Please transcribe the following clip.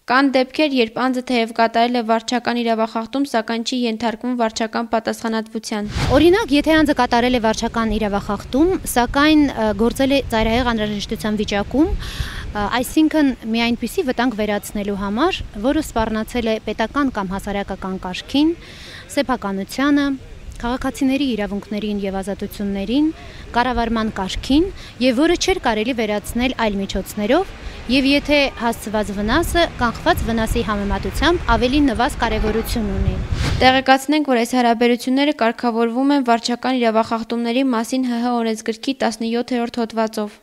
Կան դեպքեր, երբ անձը թեև կատարել է վարչական իրավախախտում, սակայն չի ենթարկվում վարչական պատասխանատվության։ Օրինակ, եթե անձը կատարել է վարչական իրավախախտում, սակայն գործել է ծայրահեղ անհրաժեշտության վիճակում, այսինքն մի այնպիսի վտանգ վերացնելու համար, որը սպառնացել է պետական կամ հասարակական կարգին, սեփականությանը, քաղաքացիների իրավունքներին եւ ազատություններին, կառավարման կարգին եւ որը չէր կարելի վերացնել այլ միջոցներով, եւ եթե հասցված վնասը կանխված վնասի համեմատությամբ ավելի նվազ կարեւորություն ունի։ Տեղեկացնենք, որ այս հարաբերությունները կարգավորվում են վարչական իրավախախտումների մասին ՀՀ օրենսգրքի 17-րդ հոդվածով։